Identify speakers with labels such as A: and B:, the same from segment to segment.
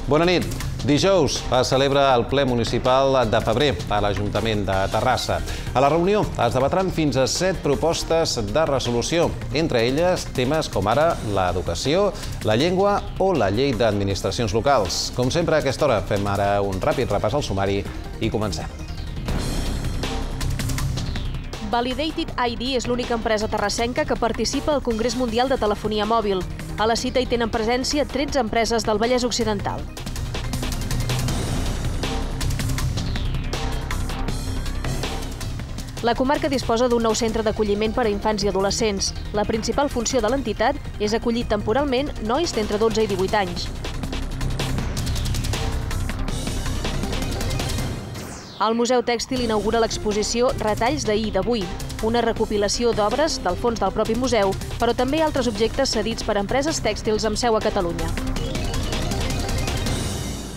A: Bona nit. Dijous es celebra el ple municipal de febrer a l'Ajuntament de Terrassa. A la reunió es debatran fins a 7 propostes de resolució, entre elles temes com ara l'educació, la llengua o la llei d'administracions locals. Com sempre, a aquesta hora fem ara un ràpid repàs al sumari i comencem.
B: Validated ID és l'única empresa terrassenca que participa al Congrés Mundial de Telefonia Mòbil. A la cita hi tenen presència 13 empreses del Vallès Occidental. La comarca disposa d'un nou centre d'acolliment per a infants i adolescents. La principal funció de l'entitat és acollir temporalment nois d'entre 12 i 18 anys. El Museu Tèxtil inaugura l'exposició Retalls d'ahir i d'avui, una recopilació d'obres del fons del propi museu, però també altres objectes cedits per empreses tèxtils amb seu a Catalunya.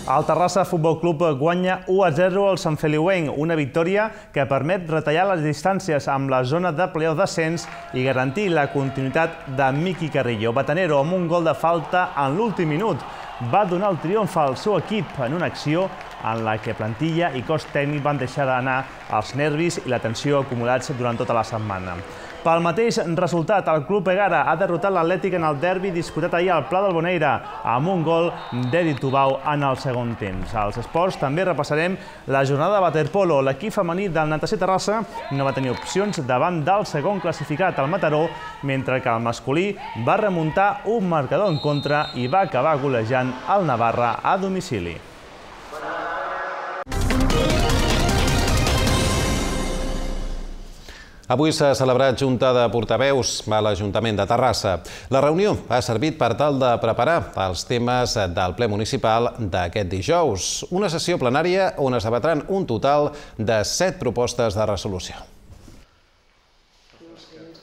C: El Terrassa Futbol Club guanya 1-0 al Sant Feliuenc, una victòria que permet retallar les distàncies amb la zona de playoff d'ascens i garantir la continuïtat de Miqui Carrillo. Batanero, amb un gol de falta en l'últim minut, va donar el triomf al seu equip en una acció en la que plantilla i cos tècnic van deixar d'anar els nervis i la tensió acumulats durant tota la setmana. Pel mateix resultat, el Club Egara ha derrotat l'Atlètic en el derbi disputat ahir al Pla del Boneira amb un gol d'Edi Tubau en el segon temps. Als esports també repassarem la jornada de waterpolo. L'equip femení del Natació Terrassa no va tenir opcions davant del segon classificat, el Mataró, mentre que el masculí va remuntar un marcador en contra i va acabar golejant el Navarra a domicili.
A: Avui s'ha celebrat Junta de Portaveus a l'Ajuntament de Terrassa. La reunió ha servit per tal de preparar els temes del ple municipal d'aquest dijous. Una sessió plenària on es debatran un total de 7 propostes de resolució.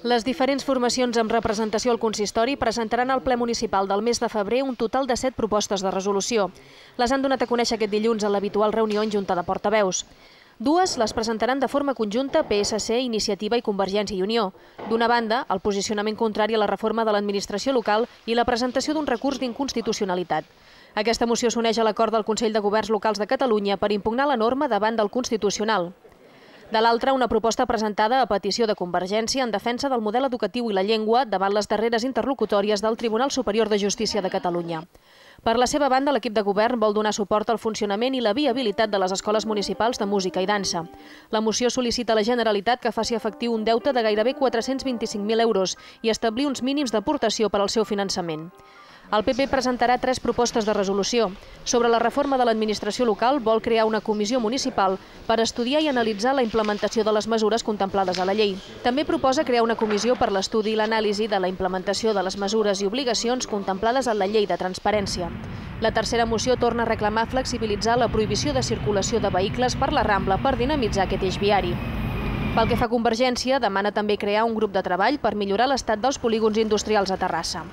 B: Les diferents formacions amb representació al consistori presentaran al ple municipal del mes de febrer un total de 7 propostes de resolució. Les han donat a conèixer aquest dilluns a l'habitual reunió en Junta de Portaveus. Dues les presentaran de forma conjunta PSC, Iniciativa i Convergència i Unió. D'una banda, el posicionament contrari a la reforma de l'administració local i la presentació d'un recurs d'inconstitucionalitat. Aquesta moció s'uneix a l'acord del Consell de Governs Locals de Catalunya per impugnar la norma davant del Constitucional. De l'altra, una proposta presentada a petició de Convergència en defensa del model educatiu i la llengua davant les darreres interlocutòries del Tribunal Superior de Justícia de Catalunya. Per la seva banda, l'equip de govern vol donar suport al funcionament i la viabilitat de les escoles municipals de música i dansa. La moció sol·licita a la Generalitat que faci efectiu un deute de gairebé 425.000 euros i establir uns mínims d'aportació per al seu finançament. El PP presentarà 3 propostes de resolució. Sobre la reforma de l'administració local, vol crear una comissió municipal per estudiar i analitzar la implementació de les mesures contemplades a la llei. També proposa crear una comissió per l'estudi i l'anàlisi de la implementació de les mesures i obligacions contemplades en la llei de transparència. La tercera moció torna a reclamar flexibilitzar la prohibició de circulació de vehicles per la Rambla per dinamitzar aquest eix viari. Pel que fa a Convergència, demana també crear un grup de treball per millorar l'estat dels polígons industrials a Terrassa.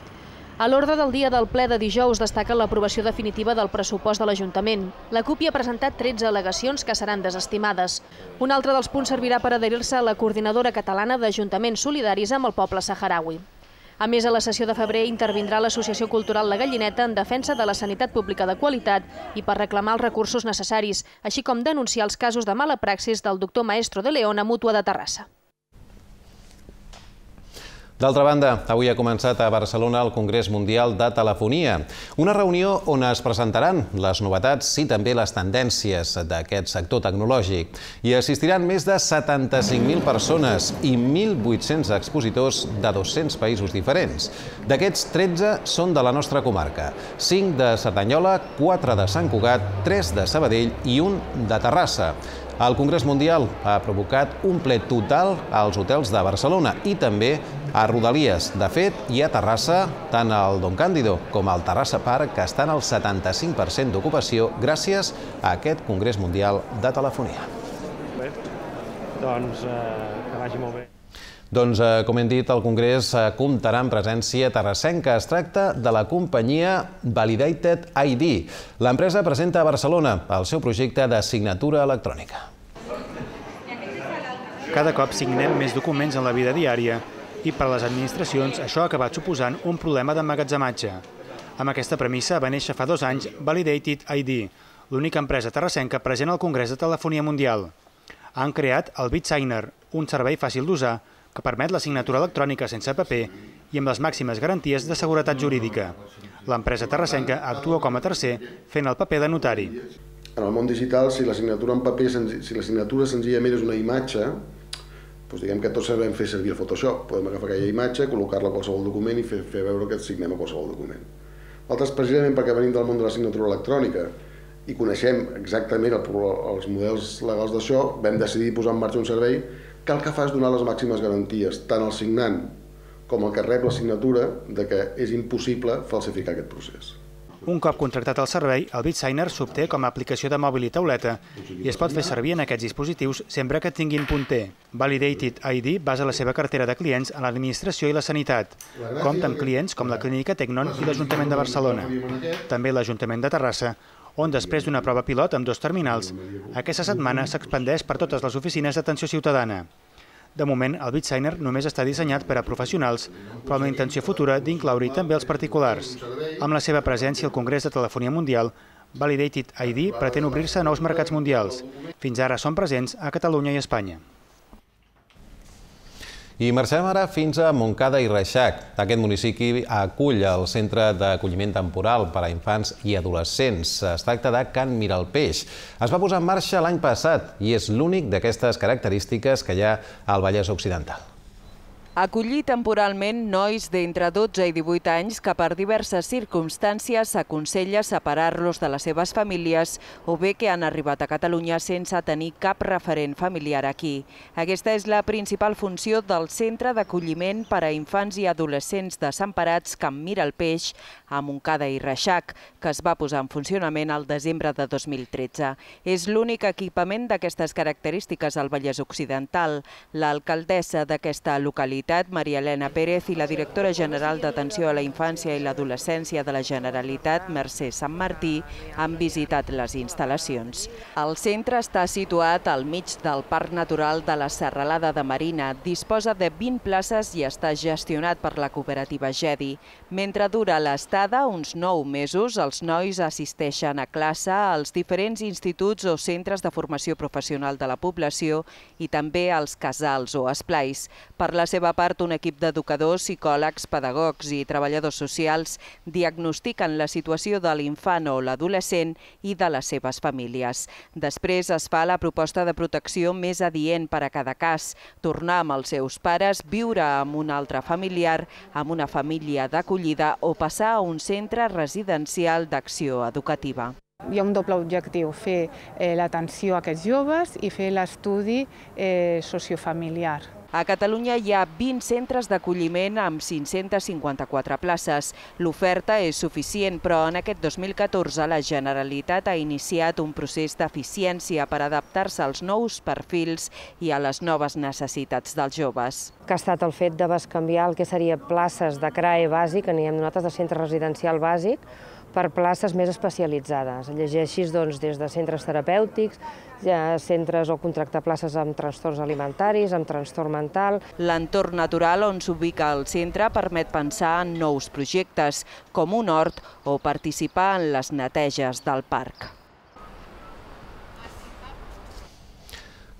B: A l'ordre del dia del ple de dijous destaca l'aprovació definitiva del pressupost de l'Ajuntament. La CUP hi ha presentat 13 al·legacions que seran desestimades. Un altre dels punts servirà per adherir-se a la Coordinadora Catalana d'Ajuntaments Solidaris amb el poble saharaui. A més, a la sessió de febrer intervindrà l'Associació Cultural La Gallineta en defensa de la sanitat pública de qualitat i per reclamar els recursos necessaris, així com denunciar els casos de mala praxis del doctor Maestro de León a Mútua de Terrassa.
A: D'altra banda, avui ha començat a Barcelona el Congrés Mundial de Telefonia, una reunió on es presentaran les novetats i també les tendències d'aquest sector tecnològic. Hi assistiran més de 75.000 persones i 1.800 expositors de 200 països diferents. D'aquests, 13 són de la nostra comarca, 5 de Cerdanyola, 4 de Sant Cugat, 3 de Sabadell i 1 de Terrassa. El Congrés Mundial ha provocat un ple total als hotels de Barcelona i també a Rodalies. De fet, hi ha a Terrassa tant el Don Càndido com el Terrassa Park, que estan al 75% d'ocupació gràcies a aquest Congrés Mundial de Telefonia.
D: Bé, doncs que vagi molt bé.
A: Doncs, com hem dit, el Congrés comptarà amb presència terrassenca. Es tracta de la companyia Validated ID. L'empresa presenta a Barcelona el seu projecte de signatura electrònica.
E: Cada cop signem més documents en la vida diària i per a les administracions això ha acabat suposant un problema d'emmagatzematge. Amb aquesta premissa va néixer fa 2 anys Validated ID, l'única empresa terrassenca present al Congrés de Telefonia Mundial. Han creat el BitSigner, un servei fàcil d'usar que permet la signatura electrònica sense paper i amb les màximes garanties de seguretat jurídica. L'empresa terrassenca actua com a tercer fent el paper de notari.
F: En el món digital, si la signatura en paper, si la signatura senzillament és una imatge, doncs diguem que tots sabem fer servir el Photoshop. Podem agafar aquella imatge, col·locar-la a qualsevol document i fer veure que signem a qualsevol document. Nosaltres, precisament perquè venim del món de la signatura electrònica i coneixem exactament els models legals d'això, vam decidir posar en marxa un servei que el que fa és donar les màximes garanties, tant al signant com el que rep la signatura, de que és impossible falsificar aquest procés.
E: Un cop contractat el servei, el BitSigner s'obté com a aplicació de mòbil i tauleta i es pot fer servir en aquests dispositius sempre que tinguin punter. Validated ID basa la seva cartera de clients en l'administració i la sanitat. Compta amb clients com la Clínica Tecnon i l'Ajuntament de Barcelona. També l'Ajuntament de Terrassa, on després d'una prova pilot amb 2 terminals, aquesta setmana s'expandeix per totes les oficines d'atenció ciutadana. De moment, el BitSigner només està dissenyat per a professionals, però amb la intenció futura d'incloure-hi també els particulars. Amb la seva presència al Congrés de Telefonia Mundial, Validated ID pretén obrir-se a nous mercats mundials. Fins ara són presents a Catalunya i Espanya.
A: I marxem ara fins a Montcada i Reixac. Aquest municipi acull el Centre d'Acolliment Temporal per a Infants i Adolescents. Es tracta de Can Miralpeix. Es va posar en marxa l'any passat i és l'únic d'aquestes característiques que hi ha al Vallès Occidental.
G: Acollir temporalment nois d'entre 12 i 18 anys que per diverses circumstàncies s'aconsella separar-los de les seves famílies o bé que han arribat a Catalunya sense tenir cap referent familiar aquí. Aquesta és la principal funció del Centre d'Acolliment per a Infants i Adolescents Desemparats Can Miralpeix a Montcada i Reixac, que es va posar en funcionament al desembre de 2013. És l'únic equipament d'aquestes característiques al Vallès Occidental. L'alcaldessa d'aquesta localitat, Maria Elena Pérez, i la directora general d'Atenció a la Infància i l'Adolescència de la Generalitat, Mercè Sant Martí, han visitat les instal·lacions. El centre està situat al mig del Parc Natural de la Serralada de Marina. Disposa de 20 places i està gestionat per la cooperativa GEDI. Mentre dura l'estada, uns 9 mesos, els nois assisteixen a classe als diferents instituts o centres de formació professional de la població i també als casals o esplais. Per la seva part, un equip d'educadors, psicòlegs, pedagogs i treballadors socials diagnostiquen la situació de l'infant o l'adolescent i de les seves famílies. Després es fa la proposta de protecció més adient per a cada cas, tornar amb els seus pares, viure amb un altre familiar, amb una família d'acollida o passar a un centre residencial d'acció educativa.
H: Hi ha un doble objectiu, fer l'atenció a aquests joves i fer l'estudi sociofamiliar.
G: A Catalunya hi ha 20 centres d'acolliment amb 554 places. L'oferta és suficient, però en aquest 2014 la Generalitat ha iniciat un procés d'eficiència per adaptar-se als nous perfils i a les noves necessitats dels joves.
I: Que ha estat el fet de bescanviar el que seria places de CRAE bàsic, que n'hi hem nosaltres de centre residencial bàsic, per places més especialitzades. Llegeixis des de centres terapèutics, centres o contractar places amb trastorns alimentaris, amb trastorn mental.
G: L'entorn natural on s'ubica el centre permet pensar en nous projectes, com un hort o participar en les neteges del parc.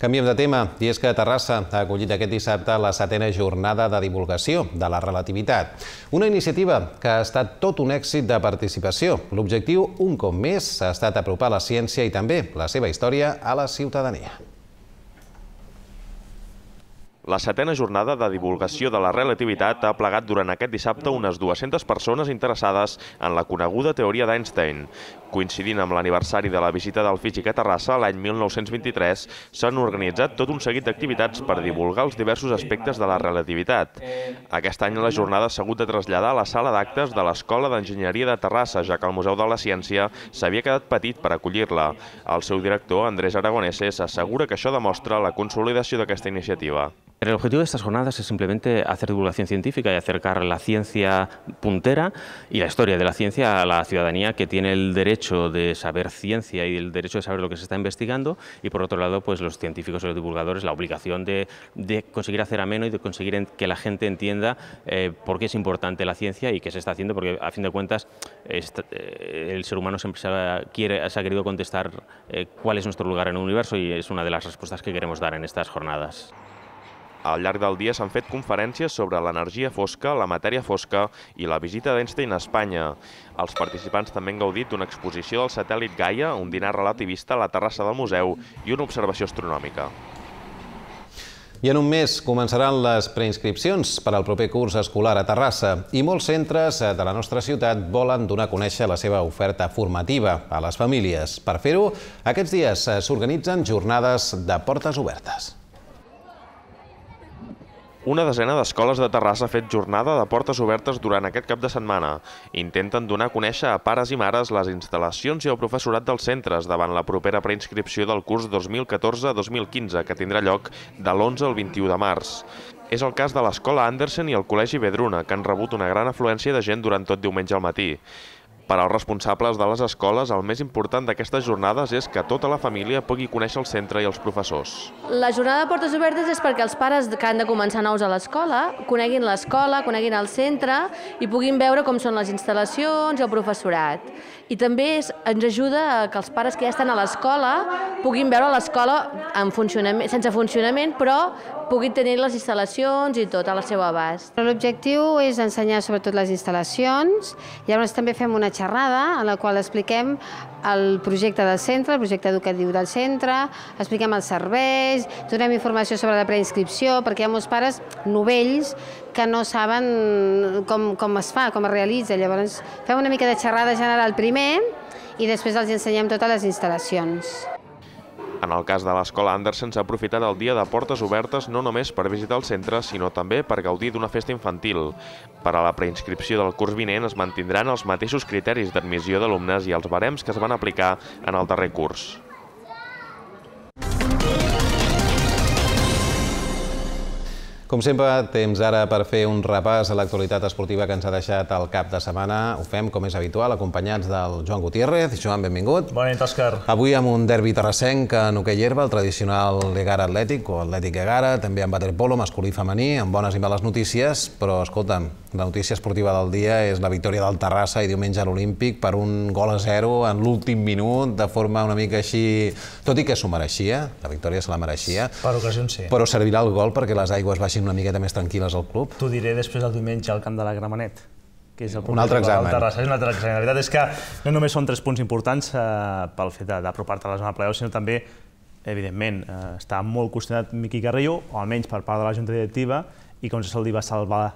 A: Canviem de tema, i és que Terrassa ha acollit aquest dissabte la 7a jornada de divulgació de la relativitat. Una iniciativa que ha estat tot un èxit de participació. L'objectiu, un cop més, ha estat apropar la ciència i també la seva història a la ciutadania.
J: La 7a jornada de divulgació de la relativitat ha plegat durant aquest dissabte unes 200 persones interessades en la coneguda teoria d'Einstein. Coincidint amb l'aniversari de la visita del físic a Terrassa l'any 1923, s'han organitzat tot un seguit d'activitats per divulgar els diversos aspectes de la relativitat. Aquest any la jornada s'ha hagut de traslladar a la sala d'actes de l'Escola d'Enginyeria de Terrassa, ja que el Museu de la Ciència s'havia quedat petit per acollir-la. El seu director, Andrés Aragoneses, assegura que això demostra la consolidació d'aquesta iniciativa.
K: El objetivo de estas jornadas es simplemente hacer divulgación científica y acercar la ciencia puntera y la historia de la ciencia a la ciudadanía, que tiene el derecho de saber ciencia y el derecho de saber lo que se está investigando, y por otro lado, pues los científicos y los divulgadores la obligación de conseguir hacer ameno y de conseguir que la gente entienda por qué es importante la ciencia y qué se está haciendo, porque a fin de cuentas el ser humano siempre se ha querido contestar cuál es nuestro lugar en el universo, y es una de las respuestas que queremos dar en estas jornadas.
J: Al llarg del dia s'han fet conferències sobre l'energia fosca, la matèria fosca i la visita d'Einstein a Espanya. Els participants també han gaudit d'una exposició del satèl·lit Gaia, un dinar relativista a la terrassa del museu i una observació astronòmica.
A: I en un mes començaran les preinscripcions per al proper curs escolar a Terrassa, i molts centres de la nostra ciutat volen donar a conèixer la seva oferta formativa a les famílies. Per fer-ho, aquests dies s'organitzen jornades de portes obertes.
J: Una desena d'escoles de Terrassa ha fet jornada de portes obertes durant aquest cap de setmana. Intenten donar a conèixer a pares i mares les instal·lacions i el professorat dels centres davant la propera preinscripció del curs 2014-2015, que tindrà lloc de l'11 al 21 de març. És el cas de l'Escola Andersen i el Col·legi Vedruna, que han rebut una gran afluència de gent durant tot diumenge al matí. Per als responsables de les escoles, el més important d'aquestes jornades és que tota la família pugui conèixer el centre i els professors.
L: La jornada de portes obertes és perquè els pares que han de començar nous a l'escola coneguin l'escola, coneguin el centre i puguin veure com són les instal·lacions i el professorat. I també ens ajuda a que els pares que ja estan a l'escola puguin veure l'escola sense funcionament, però puguin tenir les instal·lacions i tot al seu abast.
M: L'objectiu és ensenyar sobretot les instal·lacions, i llavors també fem una xerrada en la qual expliquem el projecte del centre, el projecte educatiu del centre, expliquem els serveis, donem informació sobre la preinscripció, perquè hi ha molts pares novells que no saben com es fa, com es realitza. Llavors fem una mica de xerrada general primer i després els ensenyem totes les instal·lacions.
J: En el cas de l'Escola Andersen s'ha aprofitat el dia de portes obertes no només per visitar el centre, sinó també per gaudir d'una festa infantil. Per a la preinscripció del curs vinent es mantindran els mateixos criteris d'admissió d'alumnes i els barems que es van aplicar en el darrer curs.
A: Com sempre, temps ara per fer un repàs a l'actualitat esportiva que ens ha deixat el cap de setmana. Ho fem, com és habitual, acompanyats del Joan Gutiérrez. Joan, benvingut.
C: Bona nit, Òscar.
A: Avui amb un derbi terrassenc en hoquei herba, el tradicional Egara Atlètic, o Atlètic Egara, també amb waterpolo masculí i femení, amb bones i males notícies, però, escolta'm, la notícia esportiva del dia és la victòria del Terrassa i diumenge a l'Olímpic per 1-0 en l'últim minut, de forma una mica així, tot i que s'ho mereixia, la victòria se la mereixia.
C: Per ocasions sí.
A: Però servirà el gol perquè les aigües baixin una miqueta més tranquil·les al club?
C: T'ho diré després del diumenge al camp de la Gramenet, que és el
A: un altre examen.
C: Terrassa. És un altre examen. La veritat és que no només són 3 punts importants pel fet d'apropar-te a la zona de play-off, sinó també, evidentment, està molt qüestionat Miqui Carrillo, o almenys per part de la Junta Directiva, i com se li va salvar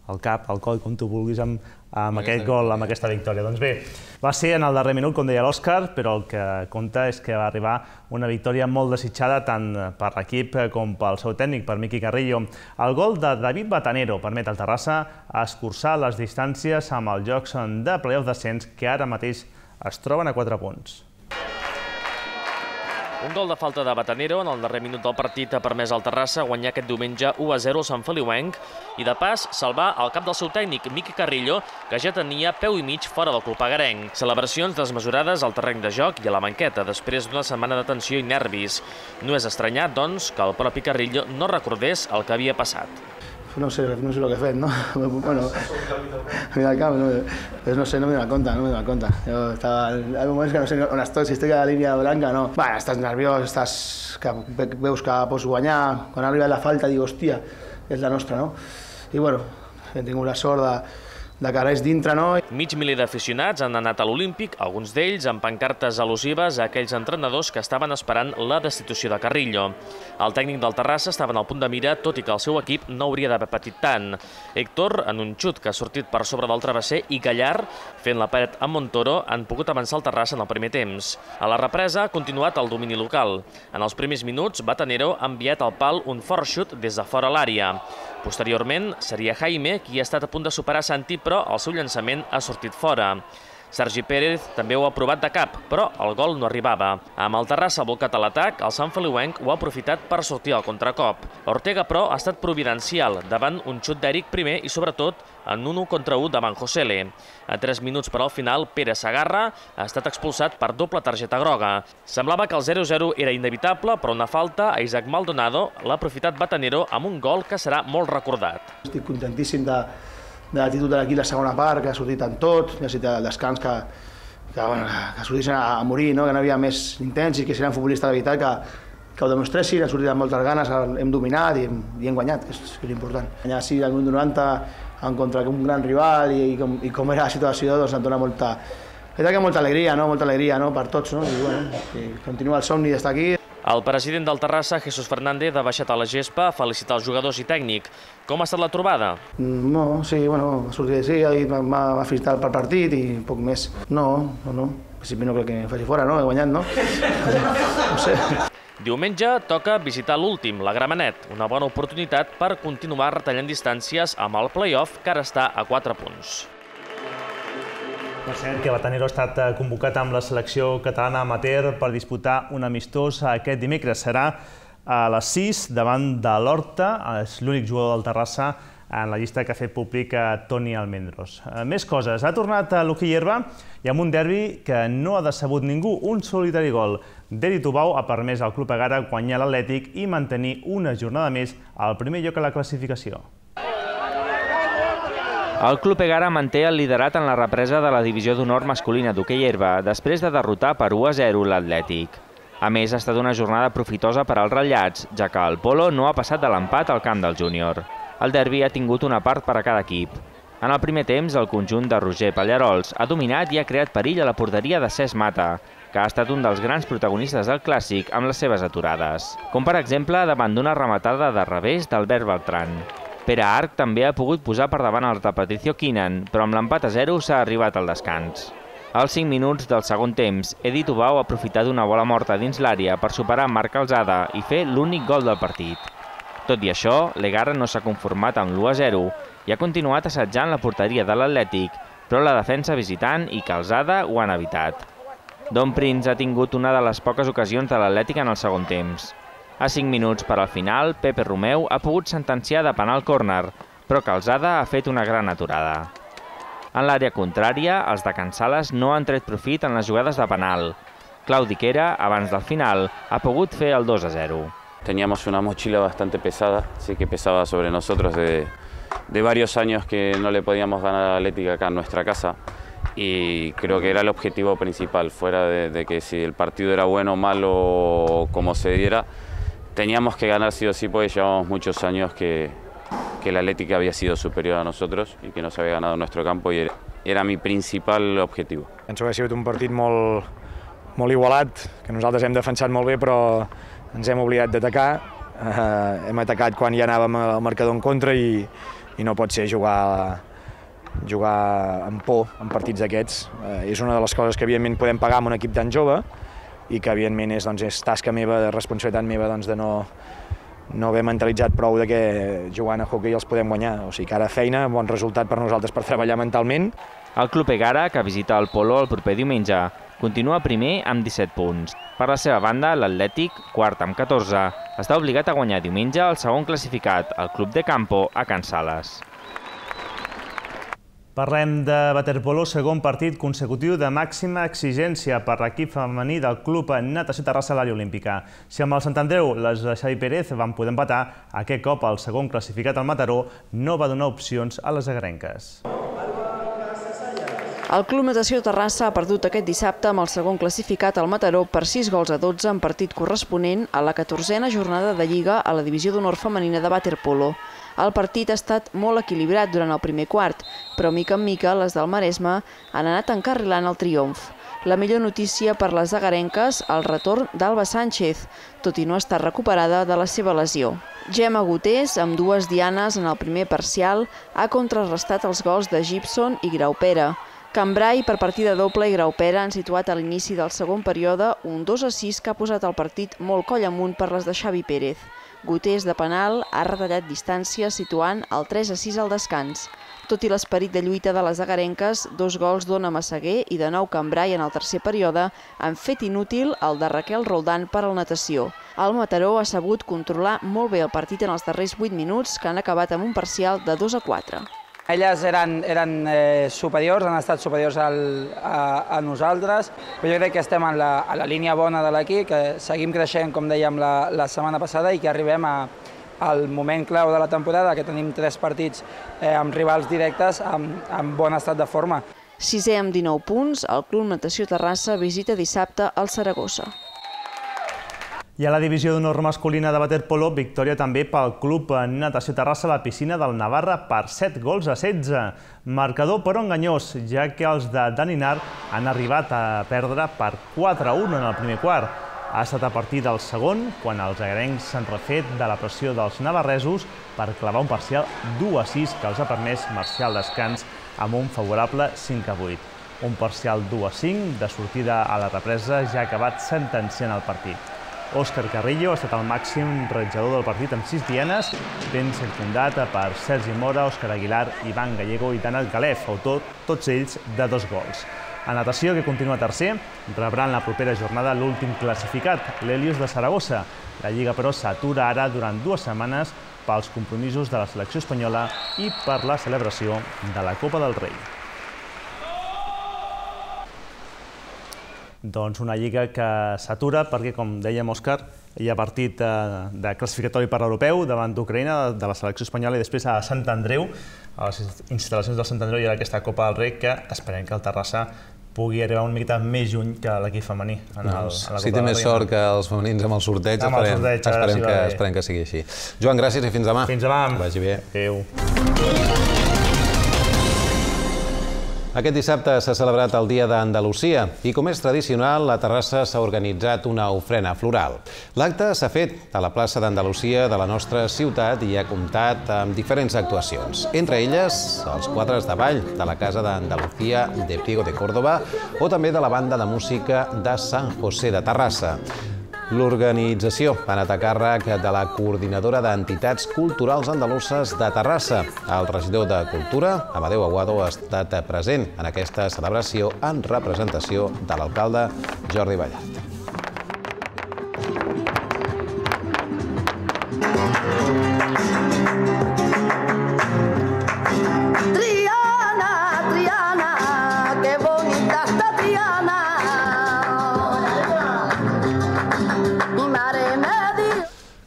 C: el cap, el coll, com tu vulguis, amb aquest gol, amb aquesta victòria. Doncs bé, va ser en el darrer minut, com deia l'Òscar, però el que compta és que va arribar una victòria molt desitjada tant per l'equip com pel seu tècnic, per Miqui Carrillo. El gol de David Batanero permet al Terrassa escurçar les distàncies amb els jocs de play-off d'ascens, que ara mateix es troben a 4 punts.
N: Un gol de falta de Batanero en el darrer minut del partit ha permès al Terrassa guanyar aquest diumenge 1-0 al Sant Feliuenc i, de pas, salvar el cap del seu tècnic, Miqui Carrillo, que ja tenia peu i mig fora del club agarenc. Celebracions desmesurades al terreny de joc i a la banqueta després d'una setmana de tensió i nervis. No és estranyat, doncs, que el propi Carrillo no recordés el que havia passat.
O: No sé el que he fet, no? Bueno, mira el camp, no sé, no me dono cuenta. Yo estaba, hay moments que no sé on estoy, si estic a la línia blanca, no. Bueno, estàs nerviós, veus que pots guanyar, quan ha arribat la falta dic, hòstia, és la nostra, no? I bueno, hem tingut la sort de que res dintre, no?
N: Mig miler d'aficionats han anat a l'Olímpic, alguns d'ells amb pancartes al·lusives a aquells entrenadors que estaven esperant la destitució de Carrillo. El tècnic del Terrassa estava en el punt de mira, tot i que el seu equip no hauria d'haver patit tant. Héctor, en un xut que ha sortit per sobre del travesser, i Gallar, fent la paret amb Montoro, han pogut avançar el Terrassa en el primer temps. A la represa ha continuat el domini local. En els primers minuts, Batanero ha enviat al pal un fort xut des de fora l'àrea. Posteriorment, seria Jaime qui ha estat a punt de superar Santi, però el seu llançament ha sortit fora. Sergi Pérez també ho ha provat de cap, però el gol no arribava. Amb el Terrassa volcat a l'atac, el Sant Feliuenc ho ha aprofitat per sortir al contracop. Ortega, però, ha estat providencial davant un xut d'Eric primer i, sobretot, en un 1 contra 1 davant Josele. A 3 minuts per al final, Pere Sagarra ha estat expulsat per doble targeta groga. Semblava que el 0-0 era inevitable, però una falta a Isaac Maldonado l'ha aprofitat Batanero amb un gol que serà molt recordat.
O: Estic contentíssim de l'actitud de l'equip la segona part, que ha sortit en tot, necessita el descans que sortissin a morir, que no havia més intents i que si eren futbolistes de veritat que ho demostressin, han sortit amb moltes ganes, hem dominat i hem guanyat, que és l'important. Guanyar així al minut 90 en contra un gran rival i com era la situació, doncs em dona molta alegria, molta alegria per tots, i continua el somni d'estar aquí.
N: El president del Terrassa, Jesús Fernández, ha baixat a la gespa a felicitar els jugadors i tècnic. Com ha estat la trobada?
O: Sí, ha sortit així, m'ha felicitat pel partit i poc més. No, en principi no crec que faci fora, he guanyat, no? No sé.
N: Diumenge toca visitar l'últim, la Gramenet, una bona oportunitat per continuar retallant distàncies amb el play-off que ara està a 4 punts.
C: Per cert, que Batanero ha estat convocat amb la selecció catalana amateur per disputar un amistós aquest dimecres. Serà a les 6 davant de l'Horta, és l'únic jugador del Terrassa en la llista que ha fet públic Toni Almendros. Més coses, ha tornat a l'hoquei herba i amb un derbi que no ha decebut ningú, un solitari gol. Deri Tubau ha permès al Club Egara guanyar l'Atlètic i mantenir una jornada més al primer lloc a la classificació.
P: El Club Egara manté el liderat en la represa de la divisió d'honor masculina d'hoquei herba després de derrotar per 1-0 l'Atlètic. A més, ha estat una jornada profitosa per als ratllats, ja que el Polo no ha passat de l'empat al camp del júnior. El derbi ha tingut una part per a cada equip. En el primer temps, el conjunt de Roger Pallarols ha dominat i ha creat perill a la porteria de Cesc Mata, que ha estat un dels grans protagonistes del clàssic amb les seves aturades, com per exemple davant d'una rematada de revés d'Albert Beltrán. Pere Arc també ha pogut posar per davant el de Patricio Quinan, però amb l'empat a 0 s'ha arribat al descans. Als 5 minuts del segon temps, Edi Tubau ha aprofitat una bola morta dins l'àrea per superar Marc Calzada i fer l'únic gol del partit. Tot i això, l'Egara no s'ha conformat amb l'1-0 i ha continuat assetjant la porteria de l'Atlètic, però la defensa visitant i Calzada ho han evitat. Don Prince ha tingut una de les poques ocasions de l'Atlètic en el segon temps. A 5 minuts per al final, Pepe Romeu ha pogut sentenciar de penal córner, però Calzada ha fet una gran aturada. En l'àrea contrària, els de Can Sales no han tret profit en les jugades de penal. Claudi Quera, abans del final, ha pogut fer el 2-0.
Q: Teníamos una mochila bastante pesada, sí que pesaba sobre nosotros de varios años que no le podíamos ganar a Atlético acá en nuestra casa. Y creo que era el objetivo principal, fuera de que si el partido era bueno o malo o como se diera, teníamos que ganar sí o sí, porque llevamos muchos años que el Atlético había sido superior a nosotros y que no se había ganado en nuestro campo y era mi principal objetivo.
R: Penso que ha sigut un partit molt igualat, que nosaltres hem defensat molt bé però ens hem oblidat d'atacar. Hem atacat quan ja anàvem al marcador en contra i no pot ser jugar amb por en partits d'aquests. És una de les coses que evidentment podem pagar amb un equip tan jove i que evidentment és tasca meva, de responsabilitat meva, de no haver mentalitzat prou que jugant a hoquei els podem guanyar. O sigui que ara feina, bon resultat per nosaltres per treballar mentalment.
P: El Club Egara, que visita el Polo el proper diumenge, continua primer amb 17 punts. Per la seva banda, l'Atlètic, quart amb 14, està obligat a guanyar diumenge el segon classificat, el Club de Campo, a Can Sales.
C: Parlem de waterpolo, segon partit consecutiu de màxima exigència per l'equip femení del Club Natació Terrassa a l'àrea olímpica. Si amb el Sant Andreu les de Xavi Pérez van poder empatar, aquest cop el segon classificat al Mataró no va donar opcions a les agarenques.
S: El Club Natació Terrassa ha perdut aquest dissabte amb el segon classificat al Mataró per 6-12 en partit corresponent a la 14a jornada de Lliga a la divisió d'honor femenina de waterpolo. El partit ha estat molt equilibrat durant el primer quart, però mica en mica les del Maresme han anat encarrilant el triomf. La millor notícia per les agarenques, el retorn d'Alba Sánchez, tot i no estar recuperada de la seva lesió. Gemma Gutés, amb 2 dianes en el primer parcial, ha contrarrestat els gols de Gibson i Graupera. Cambrai, per partida doble, i Graupera han situat a l'inici del segon període un 2-6 que ha posat el partit molt coll amunt per les de Xavi Pérez. Gutés, de penal, ha retallat distància situant el 3-6 al descans. Tot i l'esperit de lluita de les agarenques, 2 gols d'Ona Massaguer i de Nou Cambrai en el tercer període han fet inútil el de Raquel Roldán per al natació. El Mataró ha sabut controlar molt bé el partit en els darrers 8 minuts, que han acabat amb un parcial de 2-4.
T: Elles eren superiors, han estat superiors a nosaltres, però jo crec que estem a la línia bona de l'equip, que seguim creixent, com dèiem la setmana passada, i que arribem al moment clau de la temporada, que tenim 3 partits amb rivals directes en bon estat de forma.
S: 6è amb 19 punts, el Club Natació Terrassa visita dissabte el Saragossa.
C: I a la divisió d'honor masculina de waterpolo, victòria també pel Club Natació Terrassa a la piscina del Navarra per 7-16. Marcador però enganyós, ja que els de Daninar han arribat a perdre per 4-1 en el primer quart. Ha estat a partir del segon, quan els agarencs s'han refet de la pressió dels navarresos per clavar un parcial 2-6 que els ha permès marxar al descans amb un favorable 5-8. Un parcial 2-5 de sortida a la represa ja ha acabat sentenciant el partit. Òscar Carrillo ha estat el màxim ratllador del partit amb 6 dianes, ben circundat per Sergi Mora, Òscar Aguilar, Ivan Gallego i Danat Galef, autor tots ells de 2 gols. A natació, que continua tercer, rebran la propera jornada l'últim classificat, l'Helios de Saragossa. La Lliga, però, s'atura ara durant 2 setmanes pels compromisos de la selecció espanyola i per la celebració de la Copa del Rei. Doncs una lliga que s'atura perquè, com dèiem, Òscar, hi ha partit de classificatori per l'europeu davant d'Ucraïna, de la selecció espanyola, i després a Sant Andreu, a les instal·lacions del Sant Andreu, hi ha aquesta Copa del Rei que esperem que el Terrassa pugui arribar una miqueta més lluny que l'equip femení.
A: Si té més sort que els femenins amb el sorteig, esperem que sigui així. Joan, gràcies i fins demà.
C: Fins demà.
A: Vagi bé.
C: Adéu.
A: Aquest dissabte s'ha celebrat el Dia d'Andalusia i, com és tradicional, a Terrassa s'ha organitzat una ofrena floral. L'acte s'ha fet a la plaça d'Andalusia de la nostra ciutat i ha comptat amb diferents actuacions. Entre elles, els quadres de ball de la Casa d'Andalusia de Priego de Córdoba o també de la banda de música de Sant José de Terrassa. L'organització ha anat a càrrec de la coordinadora d'entitats culturals andaluses de Terrassa. El regidor de Cultura, Amadeu Aguado, ha estat present en aquesta celebració en representació de l'alcalde Jordi Ballart.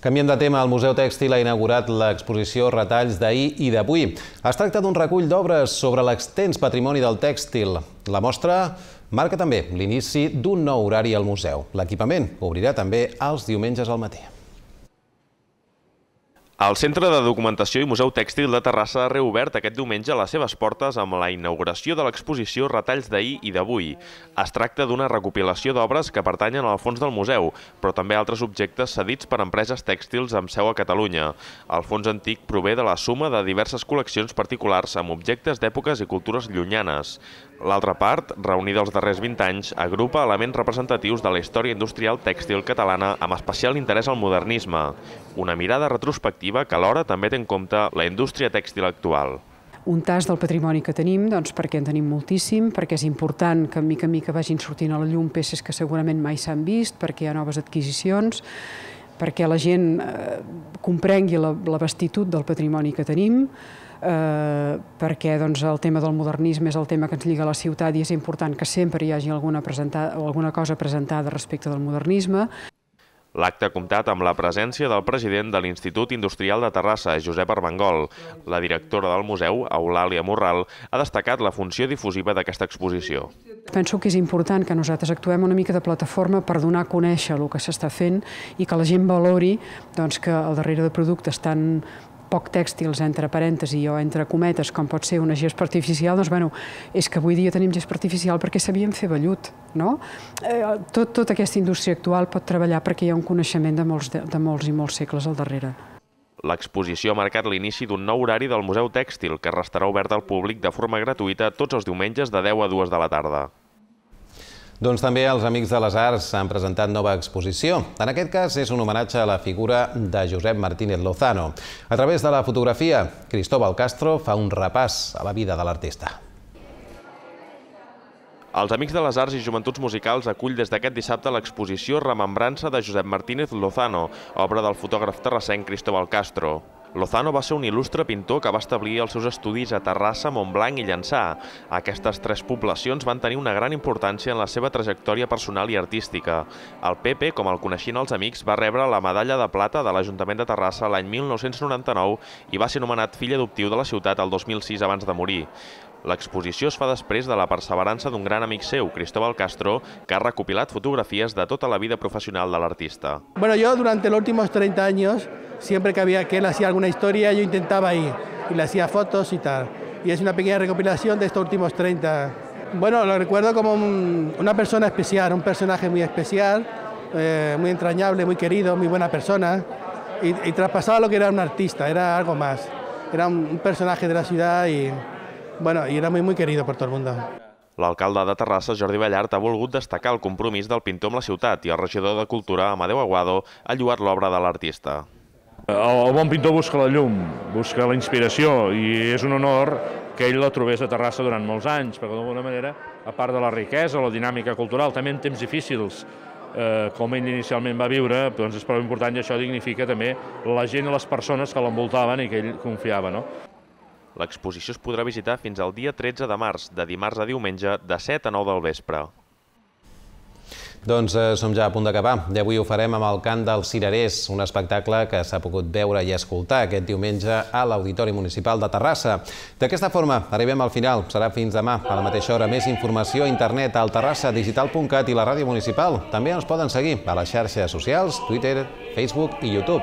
A: Canviem de tema, el Museu Tèxtil ha inaugurat l'exposició Retalls d'ahir i d'avui. Es tracta d'un recull d'obres sobre l'extens patrimoni del tèxtil. La mostra marca també l'inici d'un nou horari al museu. L'equipament obrirà també els diumenges al matí.
J: El Centre de Documentació i Museu Tèxtil de Terrassa ha reobert aquest diumenge les seves portes amb la inauguració de l'exposició Retalls d'ahir i d'avui. Es tracta d'una recopilació d'obres que pertanyen al fons del museu, però també altres objectes cedits per empreses tèxtils amb seu a Catalunya. El fons antic prové de la suma de diverses col·leccions particulars amb objectes d'èpoques i cultures llunyanes. L'altra part, reunida els darrers 20 anys, agrupa elements representatius de la història industrial tèxtil catalana amb especial interès al modernisme. Una mirada retrospectiva que alhora també té en compte la indústria tèxtil actual.
U: Un tast del patrimoni que tenim, perquè en tenim moltíssim, perquè és important que mica en mica vagin sortint a la llum peces que segurament mai s'han vist, perquè hi ha noves adquisicions, perquè la gent comprengui la vastitud del patrimoni que tenim, perquè el tema del modernisme és el tema que ens lliga a la ciutat i és important que sempre hi hagi alguna cosa presentada respecte del modernisme.
J: L'acte ha comptat amb la presència del president de l'Institut Industrial de Terrassa, Josep Armengol. La directora del museu, Eulàlia Morral, ha destacat la funció difusiva d'aquesta exposició.
U: Penso que és important que nosaltres actuem una mica de plataforma per donar a conèixer el que s'està fent i que la gent valori que al darrere de productes tan poc tèxtils, entre parèntesi o entre cometes, com pot ser una gespa artificial, és que avui dia tenim gespa artificial perquè sabíem fer vellut. Tota aquesta indústria actual pot treballar perquè hi ha un coneixement de molts i molts segles al darrere.
J: L'exposició ha marcat l'inici d'un nou horari del Museu Tèxtil, que restarà obert al públic de forma gratuïta tots els diumenges de 10 a 2 de la tarda.
A: Doncs també els Amics de les Arts han presentat nova exposició. En aquest cas és un homenatge a la figura de Josep Martínez Lozano. A través de la fotografia, Cristóbal Castro fa un repàs a la vida de l'artista.
J: Els Amics de les Arts i Joventuts Musicals acull des d'aquest dissabte l'exposició Remembrança de Josep Martínez Lozano, obra del fotògraf terrassenc Cristóbal Castro. Lozano va ser un il·lustre pintor que va establir els seus estudis a Terrassa, Montblanc i Llançà. Aquestes tres poblacions van tenir una gran importància en la seva trajectòria personal i artística. El Pepe, com el coneixien els amics, va rebre la medalla de plata de l'Ajuntament de Terrassa l'any 1999 i va ser nomenat fill adoptiu de la ciutat el 2006 abans de morir. L'exposició es fa després de la perseverança d'un gran amic seu, Cristóbal Castro, que ha recopilat fotografies de tota la vida profesional de l'artista.
B: Bueno, yo durante los últimos 30 años, siempre que él hacía alguna historia, yo intentaba ir y le hacía fotos y tal. Y es una pequeña recopilación de estos últimos 30. Bueno, lo recuerdo como una persona especial, un personaje muy especial, muy entrañable, muy querido, muy buena persona. Y traspasaba lo que era un artista, era algo más. Era un personaje de la ciudad y era muy querido por todo el mundo.
J: L'alcalde de Terrassa, Jordi Ballart, ha volgut destacar el compromís del pintor amb la ciutat i el regidor de Cultura, Amadeu Aguado, ha lloat l'obra de l'artista.
V: El bon pintor busca la llum, busca la inspiració i és un honor que ell la trobés a Terrassa durant molts anys, perquè d'alguna manera, a part de la riquesa, la dinàmica cultural, també en temps difícils, com ell inicialment va viure, doncs és prou important i això dignifica també la gent i les persones que l'envoltaven i que ell confiava, no?
J: L'exposició es podrà visitar fins al dia 13 de març, de dimarts a diumenge, de 7 a 9 del vespre.
A: Doncs som ja a punt d'acabar i avui ho farem amb el Cant dels Cirerers, un espectacle que s'ha pogut veure i escoltar aquest diumenge a l'Auditori Municipal de Terrassa. D'aquesta forma arribem al final. Serà fins demà a la mateixa hora. Més informació a internet al terrassadigital.cat i la ràdio municipal. També ens poden seguir a les xarxes socials, Twitter, Facebook i YouTube.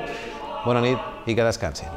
A: Bona nit i que descansin.